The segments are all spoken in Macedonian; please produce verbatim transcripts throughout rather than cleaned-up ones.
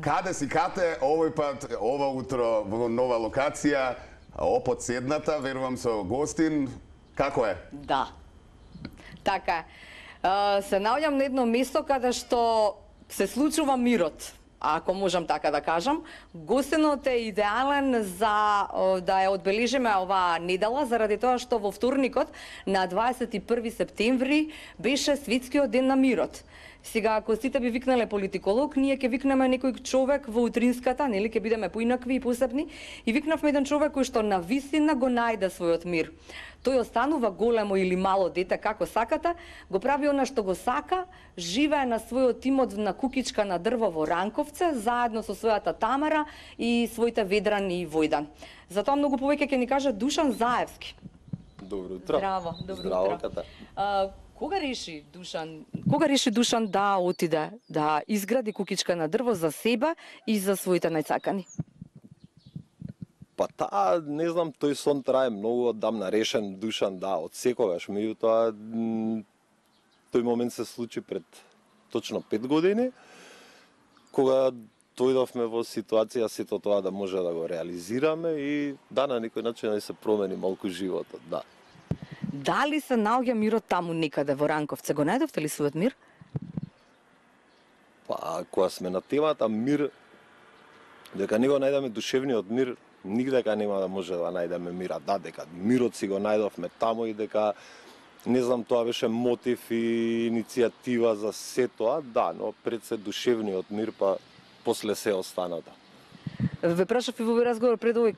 Каде си кате, овој пат, ова утро во нова локација, опод седната, верувам со гостин. Како е? Да. Така е. Се наоѓам на едно место каде што се случува мирот, ако можам така да кажам. Гостинот е идеален за да ја одбележиме оваа недела, заради тоа што во вторникот на дваесет и први септември беше Светскиот ден на мирот. Сега, ако сите би викнале политиколог, ние ќе викнеме некој човек во утринската, нели, ќе бидеме поинакви и посебни, и викнавме еден човек кој што на вистина го најде својот мир. Тој останува големо или мало дете, како сакате, го прави она што го сака, живее на својот имот на кукичка на дрво во Ранковце, заедно со својата Тамара и своите Ведран и Војдан. Затоа многу повеќе ќе ни каже Душан Заевски. Добро утро. Здраво, добро Здраво, утро. Ката. А, кога реши Душан, кога реши Душан да отиде да изгради кукичка на дрво за себе и за своите најсакани? Па таа, не знам, тој сон трае многу одамна, решен Душан, да, од секогаш. Меѓутоа, тој момент се случи пред точно пет години, кога дојдовме во ситуација сето тоа да може да го реализираме и да, на некој начин да се промени малку животот, да. Дали се наоѓа мирот таму некаде во Ранковце? Го најдовте ли својот мир? Па, кога сме на темата мир, дека не го најдеме душевниот мир, нигдека нема да може да најдеме мира. Да, дека мирот си го најдовме таму и дека, не знам, тоа беше мотив и иницијатива за се тоа, да, но пред се душевниот мир, па после се останата. Ве прашав и во овој разговор пред овој,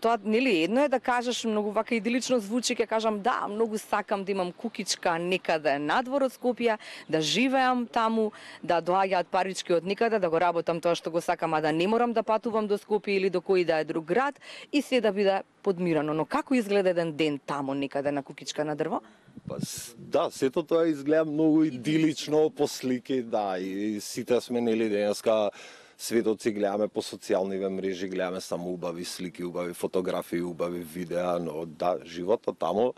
тоа нели едно е да кажеш многу вака идилично звучи, ќе кажам да, многу сакам да имам кукичка некаде надвор од Скопје, да живеам таму, да доаѓаат парички од некаде, да го работам тоа што го сакам, а да не морам да патувам до Скопје или до кој да е друг град и се да биде подмирано. Но како изгледа еден ден таму некаде на кукичка на дрво? Па, да, сето тоа изгледа многу идилично по слики, да, и сите сме нели денеска светот си гледаме по социјалниве мрежи, гледаме само убави слики, убави фотографии, убави видеа, но да, животот таму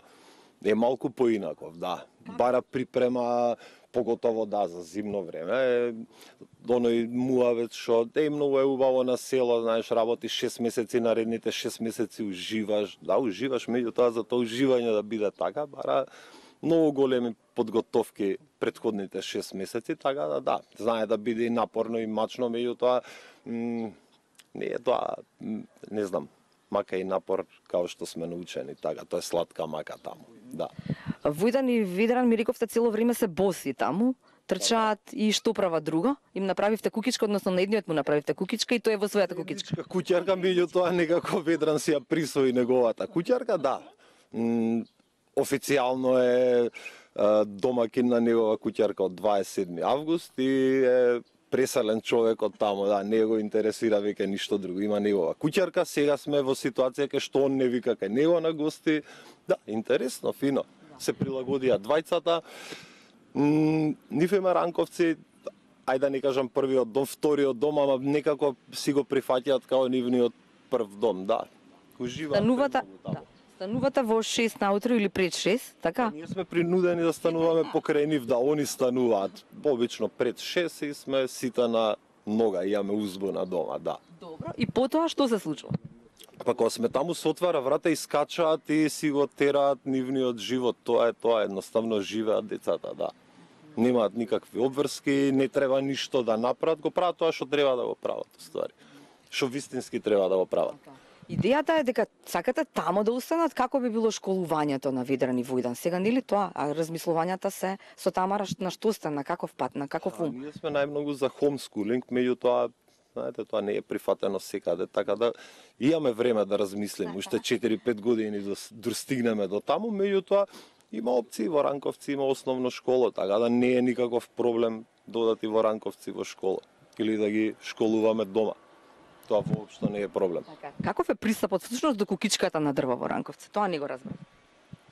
е малку поинаков, да. Бара припрема, поготово да, за зимно време, оној муавец што е многу е убаво на село, знаеш, работиш шест месеци, наредните шест месеци уживаш, да, уживаш, меѓутоа за тоа уживање да биде така, бара многу големи подготовки претходните шест месеци, така да, да, знае да биде и напорно и мачно, меѓутоа не е тоа, не знам, мака и напор као што сме научени, така, тоа е сладка мака таму, да. Војдан и Ведран ми рековте цело време се боси таму, трчаат и што прават друго? Им направивте кукичка, односно на едниот му направивте кукичка и тој е во својата кукичка. Куќарка, меѓутоа некако Ведран си ја присвои неговата куќарка, да. М, официјално е домакин на негова куќарка од дваесет и седми август и е преселен човек од таму, да, не го интересира веќе ништо друго. Има негова куќарка, сега сме во ситуација кај што он не вика кај него на гости. Да, интересно, фино. Се прилагодија двајцата. Нив има Ранковци, ајде да не кажам првиот дом, вториот дом, ама некако си го прифаќаат као нивниот прв дом, да. Уживаат. Станувата, да. Станувате во шест наутро или пред шест, така? Ние сме принудени да стануваме покрај нив, да они стануваат обично пред шест и сме сите на нога, имаме узбуна дома, да. Добро. И потоа што се случува? Па кога сме таму се отвара врата и скачаат и си го тераат нивниот живот, тоа е тоа, едноставно живеат децата, да. Немаат никакви обврски, не треба ништо да направат, го прават тоа што треба да го прават, уствари. Што вистински треба да го прават. Идејата е дека сакате тамо да останат, како би било школувањето на Ведран и Војдан. Сега нели тоа, а размислувањата се со Тамара на што сте, на каков пат, на каков ум? Ние сме најмногу за homeschooling, меѓутоа, знаете, тоа не е прифатено секаде, така да имаме време да размислиме, уште четири-пет години да достигнеме до таму, меѓутоа има опции во Ранковци, има основно школа, така да не е никаков проблем додати во Ранковци во школа или да ги школуваме дома. Тоа воопшто не е проблем. Така. Каков е пристапот всушност до кукичката на дрво во Ранковци? Тоа не го разбрав.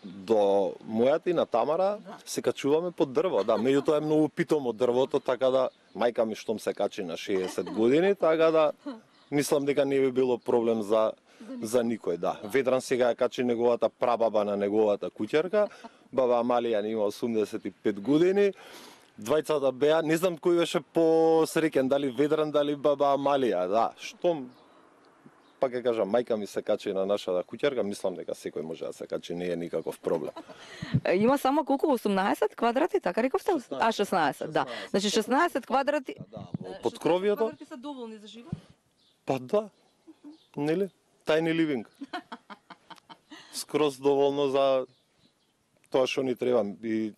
До мојата и на Тамара се качуваме под дрво, да, меѓутоа е многу питомо дрвото, така да мајка ми штом се качи на шеесет години, така да мислам дека не би било проблем за за никој, да. Ведран сега ја качи неговата прабаба на неговата куќерка, баба Амалија има осумдесет и пет години. Двајцата беа, не знам кој беше посреќен, дали Ведран, дали баба Амалија, да, што па ќе кажам, мајка ми се качи на нашата куќерка, мислам дека секој може да се качи, не е никаков проблем. Е, Има само колку осумнаесет квадрати, така рековте? А шеснаесет, да. Значи шеснаесет квадрати. Да, во подкровието. Квадрати се доволни за живот? Па да, нели? Тајни ливинг. Скроз доволно за тоа што ни треба. И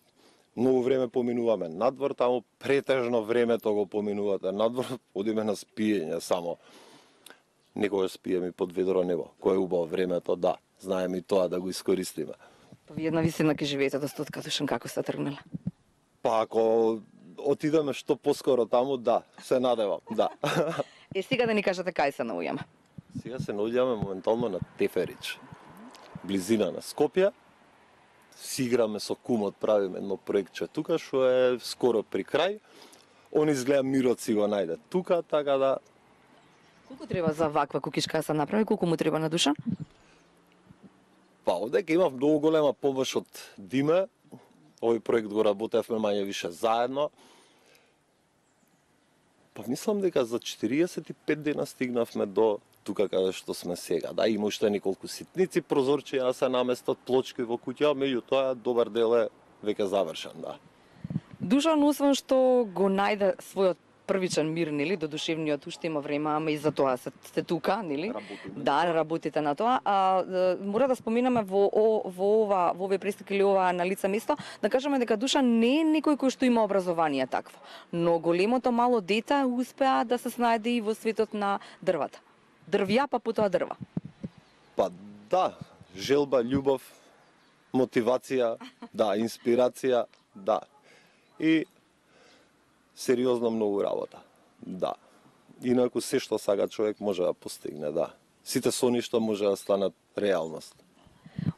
многу време поминуваме надвор, таму претежно времето го поминувате надвор, одиме на спиење само. Некогаш спиеме под ведро небо. Кој е убаво времето, да, знаеме и тоа да го искористиме. Па вие на висина ќе живеете до стотка, Душан, како сте тргнале? Па ако отидеме што поскоро таму, да, се надевам, да. Е, сега да ни кажете кај се наоѓаме. Сега се наоѓаме моментално на Теферич, близина на Скопје. Си играме со кумот, правиме едно проектче тука, што е скоро при крај. Он изгледа Мирот си го најде тука, така да... Колку треба за ваква кукичка да се направи? Колку му треба на Душан? Па, одека имав многу голема помош од Диме. Овој проект го работевме мање више заедно. Па мислам дека за четириесет и пет дена стигнавме до тука каде што сме сега. Да, има уште неколку ситници, прозорчија се наместат, плочки во куќа, меѓутоа добар дел е веќе завршен, да. Душан, освен што го најде својот првичен мир, нели, до душевниот, уште има време, ама и за тоа сте тука, нели? Работиме. Да, работите на тоа. А, мора да споминаме во, о, во ова, во овие престик или ова на лице место, да кажеме дека Душан не е некој кој што има образование такво, но големото мало дете успеа да се снајде и во светот на дрвата. Дрвја, па потоа дрва. Па да, желба, љубов, мотивација, да, инспирација, да. И сериозно многу работа, да. Инаку се што сака човек може да постигне, да. Сите соништа може да станат реалност.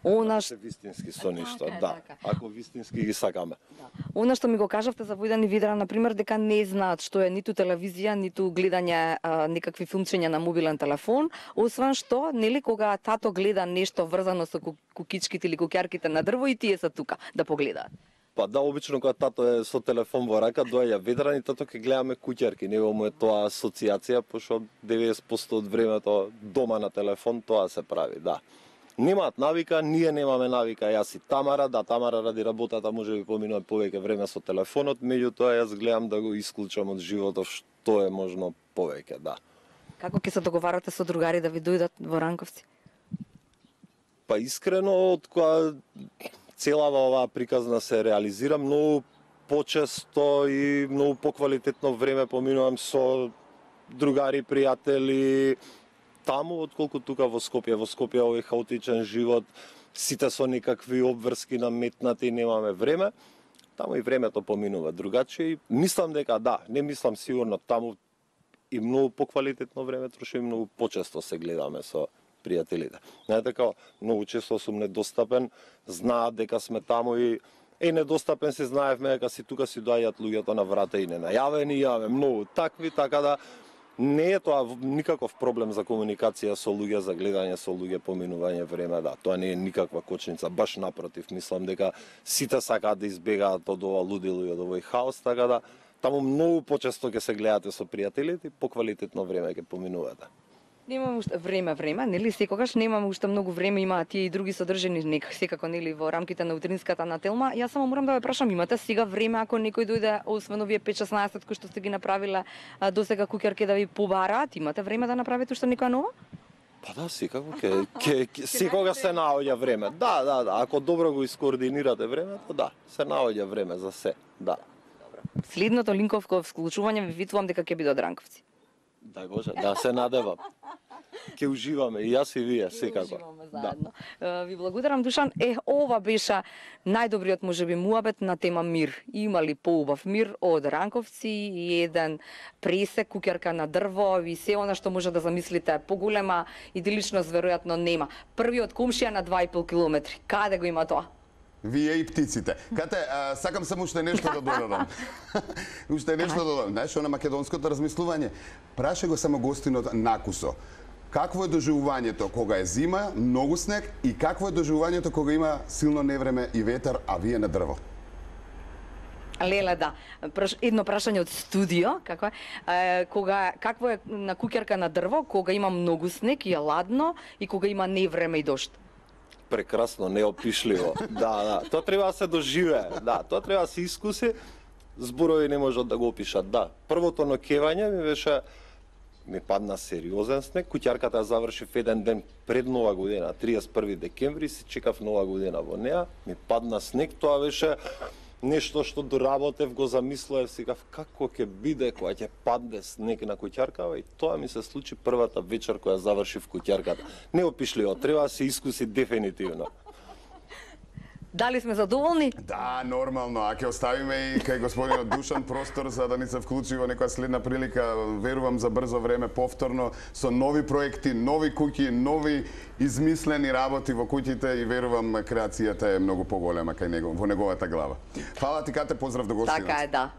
Она Се вистински соништа, Така е, да. така. Ако вистински ги сакаме. Она што ми го кажавте за Војдан и Ведран, например, дека не знаат што е ниту телевизија, ниту гледање а, некакви функциони на мобилен телефон, освен што, нели, кога тато гледа нешто врзано со ку- кукичките или кукјарките на дрво, и тие се тука да погледаат. Па да, обично кога тато е со телефон во рака, доаѓа Ведран и тато ќе гледаме куќарки. Него му е тоа асоциација, пошто деветдесет проценти од времето дома на телефон тоа се прави, да. Немаат навика, ние немаме навика, јас и Тамара, да, Тамара ради работата може би поминува повеќе време со телефонот, меѓутоа јас гледам да го исклучам од животот што е можно повеќе, да. Како ќе се договарате со другари да ви дојдат во Ранковци? Па искрено, од кога целава оваа приказна се реализира, многу почесто и многу поквалитетно време поминувам со другари, пријатели, таму, отколку тука во Скопје. Во Скопје овој хаотичен живот, сите со некакви обврски наметнати, немаме време. Таму и времето поминува другачи. Мислам дека да, не мислам сигурно, таму и многу поквалитетно време троши, и многу почесто се гледаме со пријателите. Не така, многу често сум недостапен, знаат дека сме таму и е недостапен се знаевме дека си тука си доаѓаат луѓето на врата и не најавени, имаме многу такви, така да не е тоа никаков проблем за комуникација со луѓе, за гледање со луѓе, поминување време, да, тоа не е никаква кочница, баш напротив, мислам дека сите сакаат да избегаат од ова лудило и од овој хаос, така да таму многу почесто ќе се гледате со пријателите и поквалитетно време ќе поминувате. Немаме уште време, време, нели, секогаш немаме уште многу време, има тие и други содржини, нека секако, нели, во рамките на утринската на Телма. Јас само морам да ве прашам, имате сега време ако некој дојде, освен овие пет-шеснаесет кои што сте ги направиле а, до сега куќарки да ви побараат, имате време да направите уште некоја нова? Па да, секако ќе ќе ќе- секогаш се наоѓа време. Да, да, да, ако добро го искоординирате времето, да, се наоѓа време за се. Да. Следното линковко вклучување ви витувам дека ќе биде од Ранковци. Да, Боже, да се надевам. Ќе уживаме и јас и вие секако. Уживаме Да. заедно. Е, Ви благодарам, Душан. Е, ова беше најдобриот можеби муабет на тема мир. Има ли поубав мир од Ранковци и еден пресек, куќарка на дрво и се она што може да замислите. Поголема идиличност веројатно нема. Првиот комшија на два и пол километри. Каде го има тоа? Вие и птиците. Кате, а, сакам само уште нешто да додадам. Уште нешто да додадам. Знаеш, на македонското размислување, праше го само гостинот Накусо. Какво е доживувањето кога е зима, многу снег, и какво е доживувањето кога има силно невреме и ветер, а вие на дрво? Леле, да. Праш, едно прашање од студио, како е? Е, кога какво е на куќарка на дрво, кога има многу снег и е ладно и кога има невреме и дожд? Прекрасно, неопишливо. Да, да, тоа треба да се доживее. Да, тоа треба да се искуси. Зборови не можат да го опишат. Да, првото ноќевање ми беше ми падна сериозен снег. Куќарката ја завршив еден ден пред Нова година, триесет и први декември, си чекав Нова година во неа. Ми падна снег, тоа беше нешто што доработев, го замислував, сикав како ќе биде кога ќе падне снег на куќаркава, и тоа ми се случи првата вечер која завршив куќарката. Неопишливо, треба да се искуси дефинитивно. Дали сме задоволни? Да, нормално. А ќе оставиме и кај господинот Душан простор за да ни се вклучи во некоја следна прилика, верувам за брзо време повторно со нови проекти, нови куќи, нови измислени работи во куќите, и верувам креацијата е многу поголема кај него, во неговата глава. Фала ти, Кате, поздрав до гостинот. Така е, да.